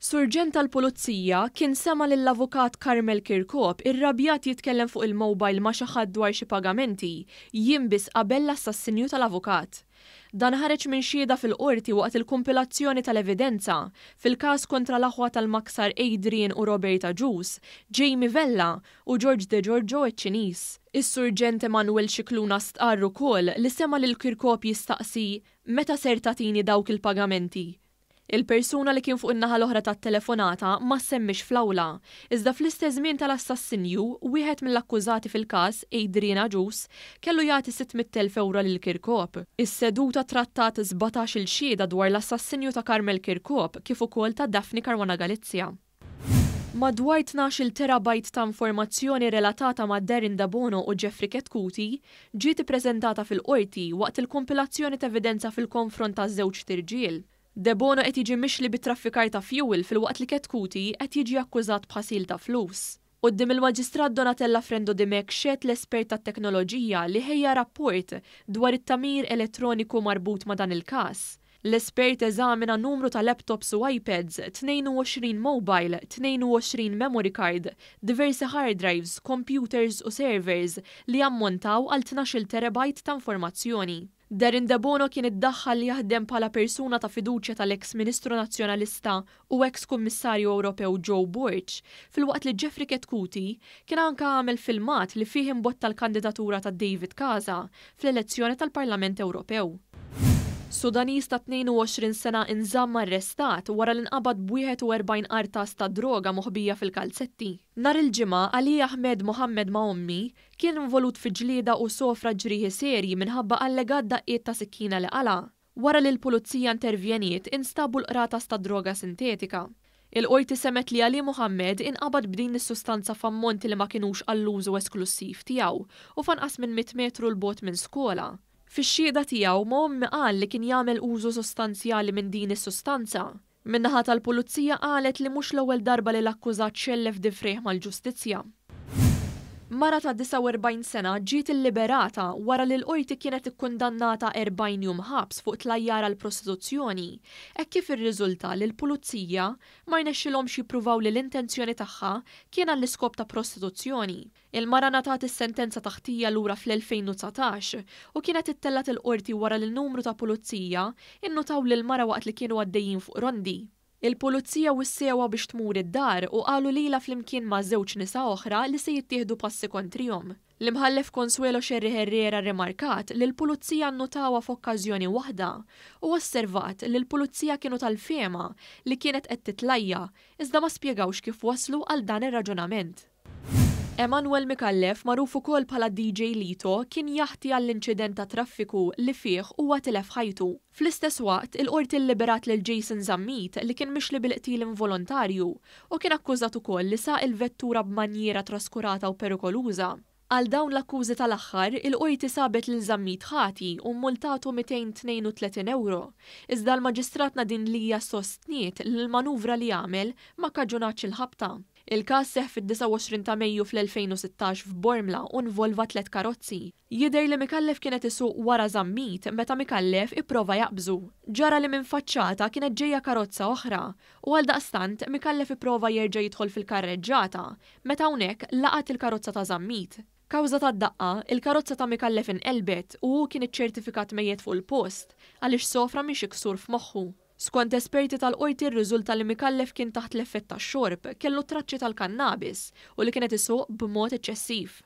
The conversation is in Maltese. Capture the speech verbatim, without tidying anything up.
Surġent tal-Pulizija kien sema lill-Avukat Carmel Chircop irrabjat jitkellem fuq il-mobile ma' xi ħadd dwar xi pagamenti jiem biss qabel l-assassinju tal-avukat. Dan ħareġ minn xhieda fil-qorti waqt il-kumpilazzjoni tal-evidenza fil-każ kontra l-aħwa tal-Maksar Adrian u Robert Agius, Jamie Vella u George Degiorgio iċ-Ċiniż. Is-Surġent Emanuel Scicluna stqarr ukoll li sema lil Chircop jistaqsi meta ser tagħtini dawk il-pagamenti. Il-persuna li kien fuq in-naħa l-oħra tat-telefonata ma ssemmix fl-awla, iżda fl-istess żmien tal-assassinju, wieħed mill-akkużati fil-każ, Adrian Agius, kellu jagħti sitt mitt elf ewro lil Chircop. Is-seduta trattat sbatax-il xhieda dwar l-assassinju ta' Carmel Chircop kif ukoll ta' Daphne Caruana Galizia. Madwar tnax-il terabyte ta' informazzjoni relatata ma' Darren Debono u Jeffrey Chetcuti ġiet ippreżentata fil-qorti waqt il-kumpilazzjoni ta' evidenza fil-konfront ta' żewġt irġiel. Debono qed jiġi mixli bit-traffikar ta' fuel filwaqt li Chetcuti qed jiġi akkużat b'ħasil ta' flus. Quddiem il-Maġistrat Donatella Frendo Dimech xehed l-espert tat-teknoloġija li ħejja rapport dwar it-tagħmir elettroniku marbut ma' dan il-każ. L-espert eżamina numru ta' laptops u iPads, tnejn u għoxrin mobile, tnejn u għoxrin memory card, diversi hard drives, computers u servers li ammontaw għal tnax-il terabyte ta' informazzjoni. Darren Debono kien iddaħħal li jaħdem bħala persuna ta' fiduċja tal-ex Ministru Nazzjonalista u ex Kummissarju Ewropew Joe Borg, filwaqt li Jeffrey Chetcuti kien anka għamel filmat li fih imbotta l-kandidatura ta' David Casa fl-elezzjoni tal-Parlament Ewropew. Sudanis ta' tnejn u għoxrin sena inżamm arrestat wara li nqabad b'wieħed u erbgħin qartas ta' droga moħbija fil-kalzetti. Nhar il-Ġimgħa Ali Ahmed Mohammed Maommi kien involut fi ġlieda u sofra ġrieħi serji minħabba allegat daqqiet ta' sikkina li qala. Wara li l-pulizija intervjeniet instabu l-qratas ta' droga sintetika. Il-qorti semet li Ali Mohammed inqabad b'din is-sustanza f'ammonti li ma kinux għall-użu esklussiv tiegħu u f'anqas minn mitt metru 'l bogħod minn skola. Fix-xhieda tiegħu Maommi qal li kien jagħmel użu sostanzjali minn din is-sustanza. Min-naħa tal-pulizija qalet li mhux l-ewwel darba li l-akkużat xellef difrejh mal-ġustizzja. Mara ta' disgħa u erbgħin sena ġiet illiberata wara li l-qorti kienet ikkundannata erbgħin jum ħabs fuq tlajjar għal prostituzzjoni, hekk kif irriżulta li l-pulizija ma rnexxilhomx jippruvaw li l-intenzjoni tagħha kien għall-iskop ta' prostituzzjoni. Il-mara ngħatat is-sentenza taħtija lura fl-elfejn u dsatax u kienet ittellgħet il-qorti wara li n-numru ta' pulizija innutaw lil mara waqt li kienu għaddejjin fuq rondi. Il-pulizija wissewha biex tmur id-dar u qalu lilha flimkien ma' żewġ nisa oħra li se jittieħdu passi kontrihom. L-imħallef Consuelo Scerri Herrera rrimarkat li l-pulizija nnutawha f'okkażjoni waħda u osservat li l-pulizija kienu tal-fehma li kienet qed titlajja iżda ma spjegawx kif waslu għal dan ir-raġunament. Emanuel Micallef, magħruf ukoll bħala D J Lito, kien jaħti għall-inċident ta' traffiku li fih huwa tilef ħajtu. Fl-istess waqt, il-qorti lliberat lil Jason Zammit li kien mixli bil-qtil involontarju u kien akkużat ukoll li saq il-vettura b'manjiera traskurata u perikoluża. Għal dawn l-akkużi tal-aħħar, il-qorti sabet lil Zammit ħati u mmultatu mitejn tnejn u tletin euro. Iżda l-Maġistrat Nadine Lia sostniet li l-manuvra li għamel ma kkaġunatx il-ħabta. Il-każ seħħ fid-disgħa u għoxrin ta' Mejju fl-elfejn u sittax f'Bormla u nvolva tliet karozzi. Jidher li Micallef kienet isuq wara Zammit meta Micallef ipprova jaqbżu. Ġara li minn faċċata kienet ġejja karozza oħra u għal daqstant Micallef ipprova jerġa' jidħol fil-karreġġata meta hawnhekk laqat il-karozza ta' Zammit. Kawża tad-daqqa, il-karozza ta' Micallef inqelbet u hu kien iċċertifikat mejjet fuq il-post għaliex sofra minn xi ksur f'moħħu. Skont esperti tal-qorti rriżulta li Micallef kien taħt l-effett tax-xorb, kellu traċċi tal-kannabis u li kienet isuq b'mod eċċessiv.